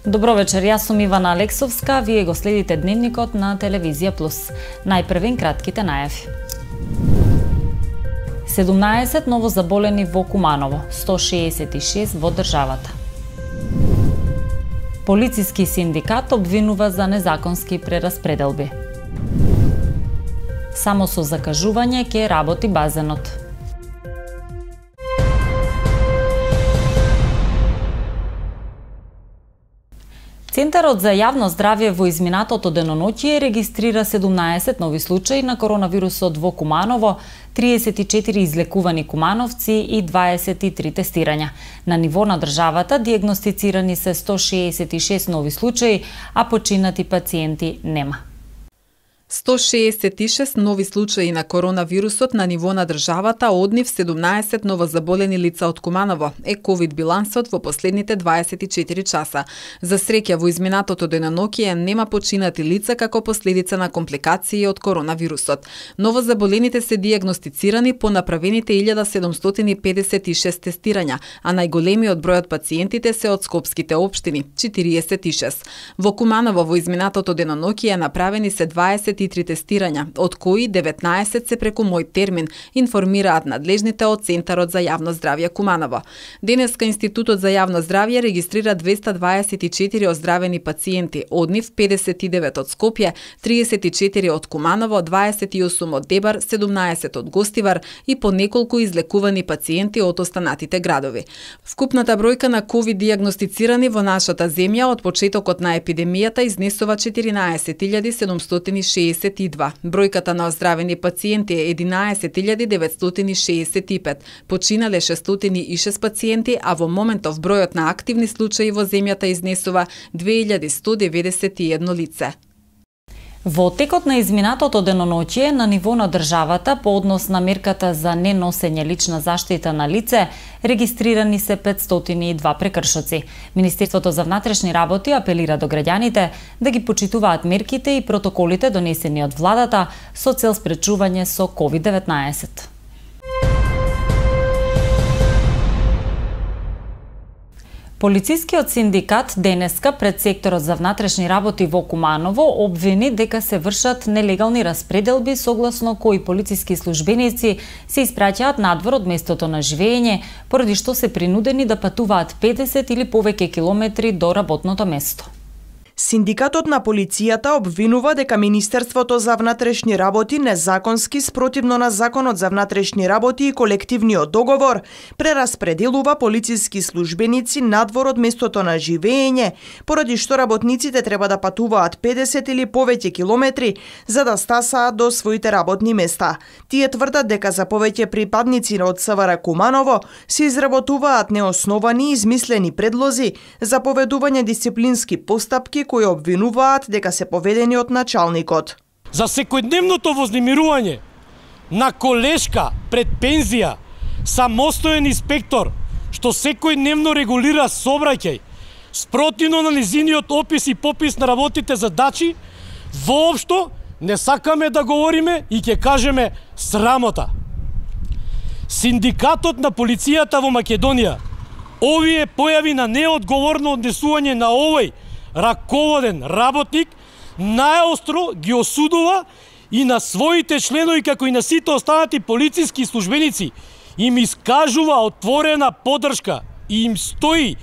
Добро вечер, јас сум Ивана Алексовска, вие го следите Дневникот на Телевизија Плюс. Најпрвен кратките најави. 17 новозаболени во Куманово, 166 во државата. Полициски синдикат обвинува за незаконски прераспределби. Само со закажување ќе работи базенот. Центарот за јавно здравје во изминатото деноноќие регистрира 17 нови случаи на коронавирусот во Куманово, 34 излекувани кумановци и 23 тестирања. На ниво на државата дијагностицирани се 166 нови случаи, а починати пациенти нема. 166 нови случаи на коронавирусот на ниво на државата, од нив 17 новозаболени лица од Куманово е ковид билансот во последните 24 часа. За среќа во изминатото деноноќие нема починати лица како последица на компликации од коронавирусот. Новозаболените се дијагностицирани по направените 1756 тестирања, а најголемиот број од пациентите се од скопските општини 46. Во Куманово во изминатото деноноќие направени се 23 тестирања, од кои 19 се преку мој термин, информираат надлежните од Центарот за јавно здравје Куманово. Денеска Институтот за јавно здравје регистрира 224 оздравени пациенти, од нив 59 од Скопје, 34 од Куманово, 28 од Дебар, 17 од Гостивар и по неколку излекувани пациенти од останатите градови. Вкупната бројка на ковид дијагностицирани во нашата земја од почетокот на епидемијата изнесува 14.762. Бројката на оздравени пациенти е 11.965, починале 606 пациенти, а во моментов бројот на активни случаи во земјата изнесува 2191 лице. Во текот на изминатото деноноќие на ниво на државата по однос на мерката за неносење лична заштита на лице, регистрирани се 502 прекршоци. Министерството за внатрешни работи апелира до граѓаните да ги почитуваат мерките и протоколите донесени од владата со цел спречување со COVID-19. Полицискиот синдикат денеска пред секторот за внатрешни работи во Куманово обвини дека се вршат нелегални распределби согласно кои полициски службеници се испраќаат надвор од местото на живење, поради што се принудени да патуваат 50 или повеќе километри до работното место. Синдикатот на полицијата обвинува дека Министерството за внатрешни работи незаконски, спротивно на Законот за внатрешни работи и колективниот договор, прераспределува полициски службеници надвор од местото на живење, поради што работниците треба да патуваат 50 или повеќе километри за да стасаат до своите работни места. Тие тврдат дека за повеќе припадници од СВР Куманово се изработуваат неосновани и измислени предлози за поведување дисциплински постапки кои обвинуваат дека се поведени од началникот. За секојдневното вознемирување на колешка пред пензија, самостоен инспектор, што секојдневно регулира сообраќај, спротивно на низиниот опис и попис на работите задачи, воопшто не сакаме да говориме и ќе кажеме срамота. Синдикатот на полицијата во Македонија овие појави на неодговорно однесување на овој раководен работник најостро ги осудува и на своите членови како и на сите останати полициски службеници им искажува отворена поддршка и им стои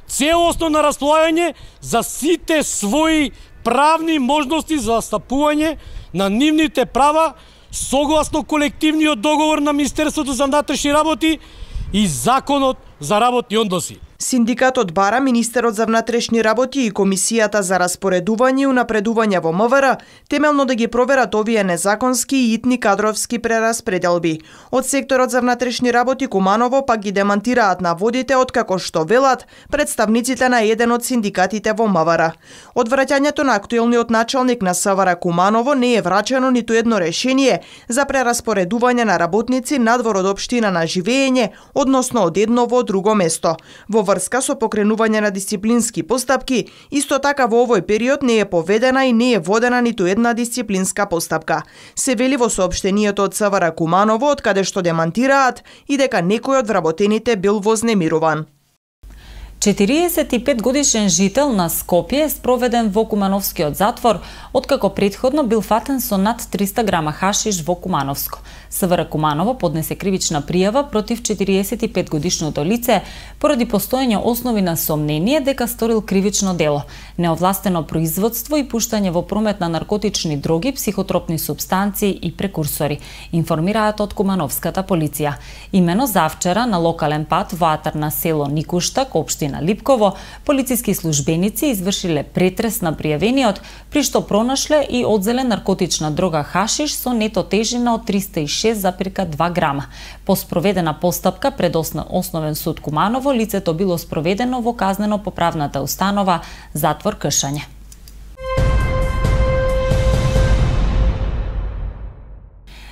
целосно на располагање за сите своји правни можности за стапување на нивните права согласно колективниот договор на Министерството за внатрешни работи и Законот за работни односи. Синдикатот бара Министерот за внатрешни работи и Комисијата за распоредување и унапредување во МВР темелно да ги проверат овие незаконски и итни кадровски прераспределби. Од секторот за внатрешни работи Куманово пак ги демантираат наводите откако што велат представниците на еден од синдикатите во МВР. Од враќањето на актуелниот началник на СВР Куманово не е врачено ниту едно решение за прераспоредување на работници надвор од општина на живење, односно од едно во друго место. Во врска со покренување на дисциплински постапки, исто така во овој период не е поведена и не е водена ниту една дисциплинска постапка. Се вели во соопштението од СВР Куманово, од каде што демантираат и дека некој од вработените бил вознемируван. 45-годишен жител на Скопје е спроведен во Кумановскиот затвор, откако претходно бил фатен со над 300 грама хашиш во Кумановско. СВР Куманово поднесе кривична пријава против 45-годишното лице поради постоење основи на сомнение дека сторил кривично дело, неовластено производство и пуштање во промет на наркотични дроги, психотропни супстанции и прекурсори, информираат од Кумановската полиција. Имено завчера на локален пат во атар на село Никуштак, општина Липково, полициски службеници извршиле претрес на пријавениот, при што пронашле и одзеле наркотична дрога хашиш со нето тежина од 306,2 грама. По спроведена постапка пред Основен суд Куманово, лицето било спроведено во казнено-поправната установа затвор Кшање.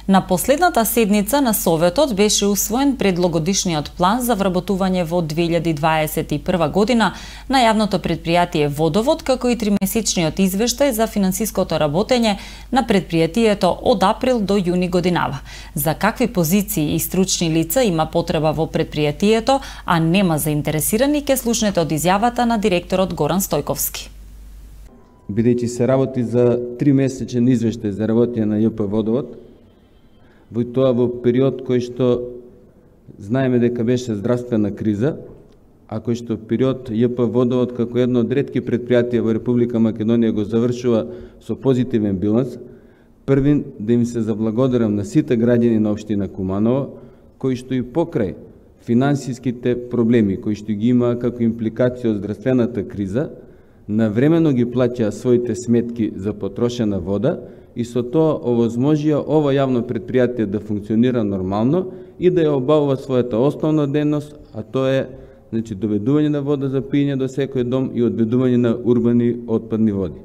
На последната седница на Советот беше усвоен предлогодишниот план за вработување во 2021 година на јавното предпријатие Водовод, како и тримесечниот извештај за финансиското работење на предпријатието од април до јуни годинава. За какви позиции и стручни лица има потреба во предпријатието, а нема заинтересирани, ке слушнете од изјавата на директорот Горан Стојковски. Бидејќи се работи за 3-месечен извештај за работење на ЈП Водовод, во тоа во период кој што знаеме дека беше здравствена криза, а кој што период ЈП Водовод како едно од ретки предпријатија во Република Македонија го завршува со позитивен биланс, првин да им се заблагодарам на сите граѓани на општина Куманово, кои што и покрај финансиските проблеми кои што ги има како импликација од здравствената криза, навремено ги плаќаа своите сметки за потрошена вода и со тоа овозможија ова јавно предпријатие да функционира нормално и да ја обавува својата основна дејност, а тоа е доведување на вода за пиење до секој дом и одведување на урбани отпадни води.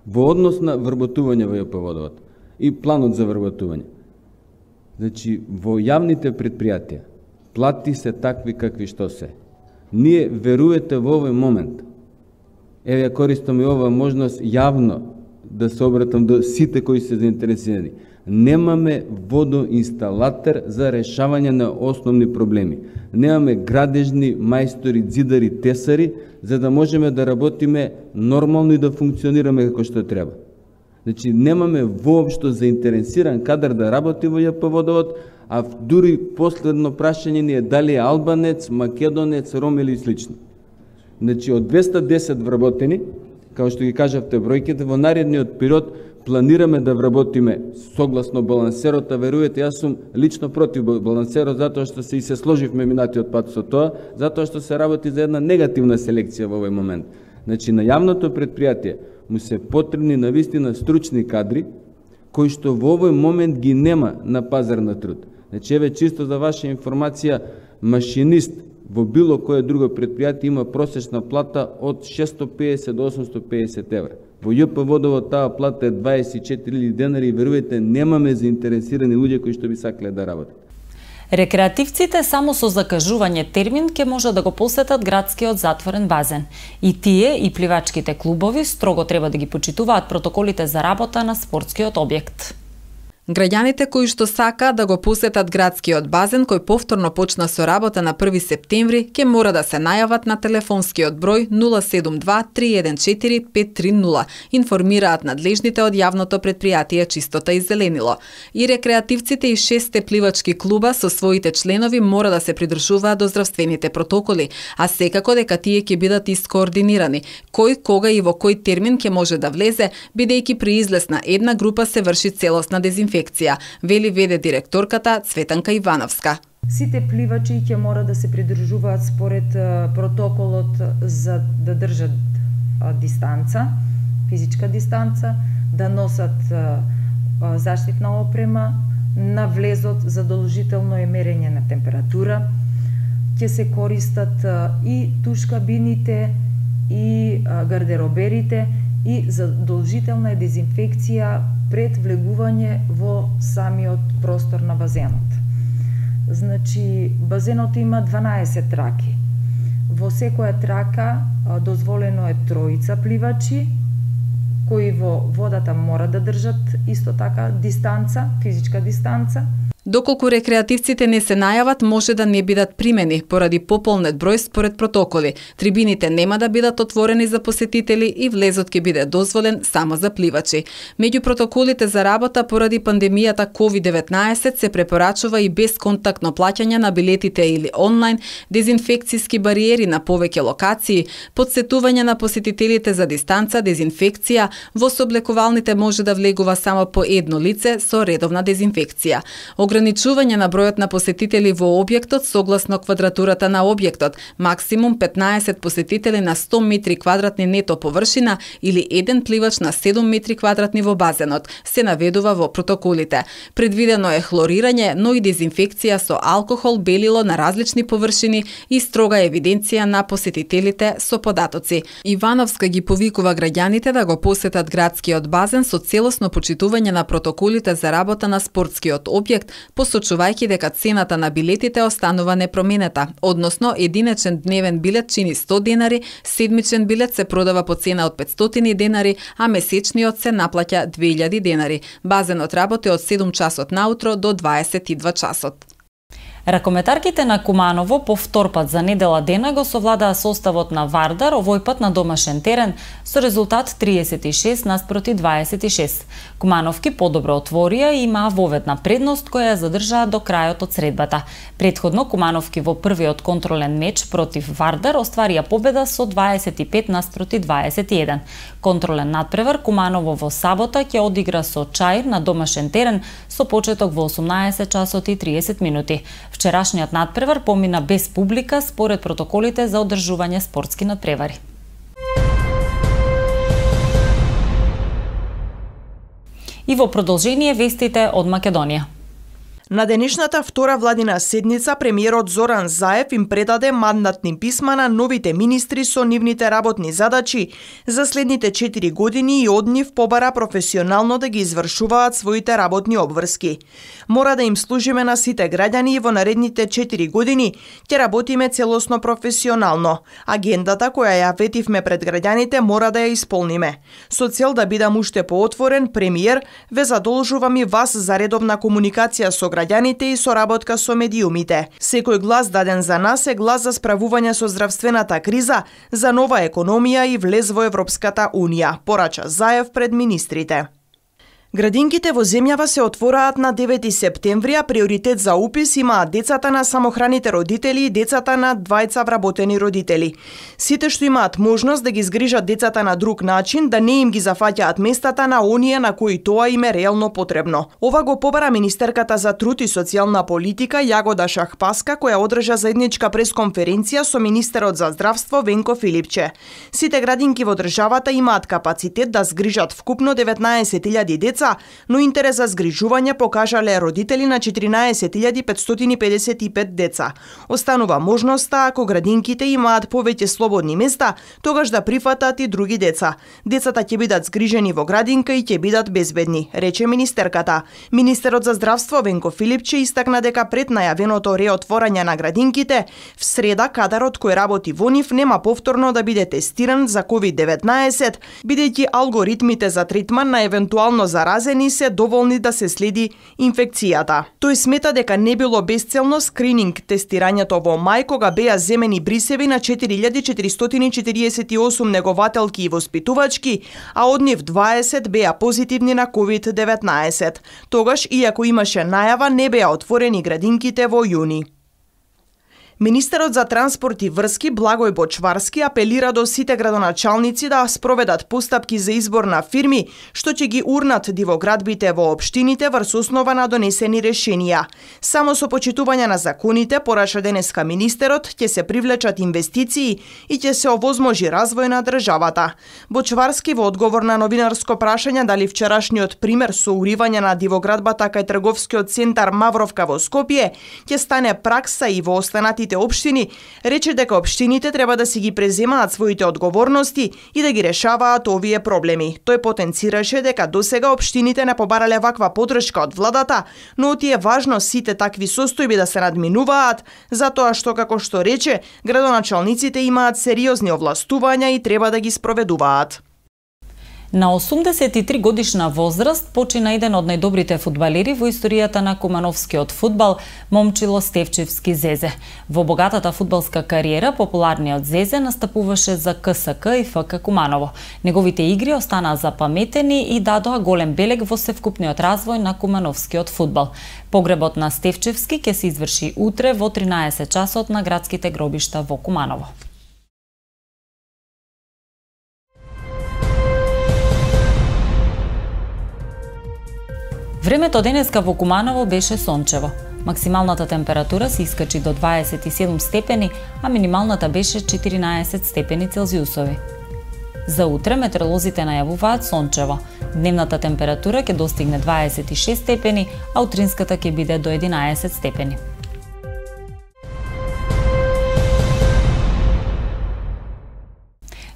Во однос на вработување во ЈП Водовод и планот за вработување. Во јавните предпријатија плати се такви какви што се. Ние верувате во овој момент. Еве ја користам и оваа можност јавно да се обратам до сите кои се заинтересирани. Немаме водоинсталатор за решавање на основни проблеми. Немаме градежни мајстори, ѕидари, тесари, за да можеме да работиме нормално и да функционираме како што треба. Немаме воопшто заинтересиран кадар да работи во ЈП Водовод, а дури последно прашање ни е дали е албанец, македонец, ром или слично. Од 210 вработени, како што ги кажавте бројките, во наредниот период планираме да вработиме согласно балансерот, а верувате, јас сум лично против балансерот, затоа што се и се сложивме минатиот пат со тоа, затоа што се работи за една негативна селекција во овој момент. На јавното предпријатие му се потребни навистина стручни кадри, кои што во овој момент ги нема на пазар на труд. Еве чисто за ваша информација, машинист во било кое друго предпријатие има просечна плата од 650 до 850 евра. Во ЈП Водовод таа плата е 24.000 денари и верувате, немаме заинтересирани луѓе кои што би сакале да работат. Рекреативците само со закажување термин ќе може да го посетат градскиот затворен базен. И тие и пливачките клубови строго треба да ги почитуваат протоколите за работа на спортскиот објект. Граѓаните кои што сакаат да го посетат градскиот базен, кој повторно почна со работа на 1 септември, ќе мора да се најават на телефонскиот број 072-314-530, информираат надлежните од јавното предпријатие Чистота и зеленило. И рекреативците и 6 пливачки клуба со своите членови мора да се придржуваат до здравствените протоколи, а секако дека тие ќе бидат искоординирани. Кој, кога и во кој термин ќе може да влезе, бидејќи при излез на една група се врши целосна дезинфекција, вели веде директорката Цветанка Ивановска. Сите пливачи ќе мора да се придржуваат според протоколот за да држат дистанца, физичка дистанца, да носат заштитна опрема, на влезот задолжително е мерење на температура, ќе се користат и туш кабините и гардероберите и задолжителна е дезинфекција пред влегување во самиот простор на базенот. Базенот има 12 траки. Во секоја трака дозволено е 3 пливачи, кои во водата мора да држат исто така дистанца, физичка дистанца. Доколку рекреативците не се најават, може да не бидат примени поради пополнет број според протоколи. Трибините нема да бидат отворени за посетители и влезот ќе биде дозволен само за пливачи. Меѓу протоколите за работа поради пандемијата COVID-19 се препорачува и безконтактно плаќање на билетите или онлайн, дезинфекцијски бариери на повеќе локации, подсетување на посетителите за дистанца, дезинфекција, во сооблекувалните може да влегува само по едно лице со редовна дезинфекција. Ограничување на бројот на посетители во објектот согласно квадратурата на објектот, максимум 15 посетители на 100 метри квадратни нето површина или еден пливач на 7 метри квадратни во базенот, се наведува во протоколите. Предвидено е хлорирање, но и дезинфекција со алкохол, белило на различни површини и строга евиденција на посетителите со податоци. Ивановска ги повикува граѓаните да го посетат градскиот базен со целосно почитување на протоколите за работа на спортскиот објект, посочувајќи дека цената на билетите останува непроменета, односно единечен дневен билет чини 100 денари, седмичен билет се продава по цена од 500 денари, а месечниот се наплаќа 2000 денари. Базенот работи од 7 часот наутро до 22 часот. Ракометарките на Куманово по втор пат за недела дена го совладаа составот на Вардар, овој пат на домашен терен, со резултат 36 наспроти 26. Кумановки подобро отворија и имаа воведна предност која ја задржаа до крајот од средбата. Предходно Кумановки во првиот контролен меч против Вардар остварија победа со 25 наспроти 21. Контролен надпревар Куманово во сабота ќе одигра со Чаир на домашен терен со почеток во 18 часот и 30 минути. Вчерашниот надпревар помина без публика според протоколите за одржување спортски надпревари. И во продолжение вестите од Македонија. На денешната втора владина седница, премиерот Зоран Заев им предаде мандатни писма на новите министри со нивните работни задачи за следните 4 години и од нив побара професионално да ги извршуваат своите работни обврски. Мора да им служиме на сите граѓани и во наредните 4 години ќе работиме целосно професионално. Агендата која ја ветивме пред граѓаните мора да ја исполниме. Со цел да бидам уште поотворен, премиер, ве задолжувам и вас за редовна комуникација со граѓаните и соработка со медиумите. Секој глас даден за нас е глас за справување со здравствената криза, за нова економија и влез во Европската Унија, порача Заев пред министрите. Градинките во земјава се отвораат на 9 септември, а приоритет за упис имаат децата на самохраните родители и децата на двајца вработени родители. Сите што имаат можност да ги згрижат децата на друг начин, да не им ги зафаќаат местата на оние на кои тоа им е реално потребно. Ова го побара министерката за труд и социјална политика Јагода Шахпаска, која одржа заедничка пресконференција со министерот за здравство Венко Филипче. Сите градинки во државата имаат капацитет да згрижат вкупно 19.000 деца, но интерес за згрижување покажале родители на 14.555 деца. Останува можноста, ако градинките имаат повеќе слободни места, тогаш да прифатат и други деца. Децата ќе бидат згрижени во градинка и ќе бидат безбедни, рече министерката. Министерот за здравство Венко Филипче истакна дека пред најавеното реотворање на градинките, в среда кадарот кој работи во нив нема повторно да биде тестиран за COVID-19, бидејќи алгоритмите за третман на евентуално заразени се доволни да се следи инфекцијата. Тој смета дека не било безцелно скрининг тестирањето во мај кога беа земени брисеви на 4448 негователки и воспитувачки, а од нив 20 беа позитивни на COVID-19. Тогаш, иако имаше најава, не беа отворени градинките во јуни. Министерот за транспорт и врски Благој Бочварски апелира до сите градоначалници да спроведат постапки за избор на фирми што ќе ги урнат дивоградбите во општините врз основа на донесени решенија. Само со почитување на законите, пораша денеска министерот, ќе се привлечат инвестиции и ќе се овозможи развој на државата. Бочварски во одговор на новинарско прашање дали вчерашниот пример со уривање на дивоградбата кај трговскиот центар Мавровка во Скопје ќе стане пракса и во останатите општини, рече дека општините треба да си ги преземаат своите одговорности и да ги решаваат овие проблеми. Тој потенцираше дека досега општините не побарале ваква поддршка од владата, но оти е важно сите такви состојби да се надминуваат, затоа што, како што рече, градоначалниците имаат сериозни овластувања и треба да ги спроведуваат. На 83 годишна возраст почина еден од најдобрите фудбалери во историјата на кумановскиот фудбал, Момчило Стефчевски Зезе. Во богатата фудбалска кариера, популарниот Зезе настапуваше за КСК и ФК Куманово. Неговите игри останаа запаметени и дадоа голем белег во севкупниот развој на кумановскиот фудбал. Погребот на Стефчевски ќе се изврши утре во 13 часот на градските гробишта во Куманово. Времето денеска во Куманово беше сончево. Максималната температура се искачи до 27 степени, а минималната беше 14 степени Целзиусови. За утре метеоролозите најавуваат сончево. Дневната температура ќе достигне 26 степени, а утринската ќе биде до 11 степени.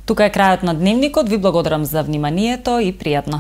Тука е крајот на дневникот. Ви благодарам за вниманието и пријатно.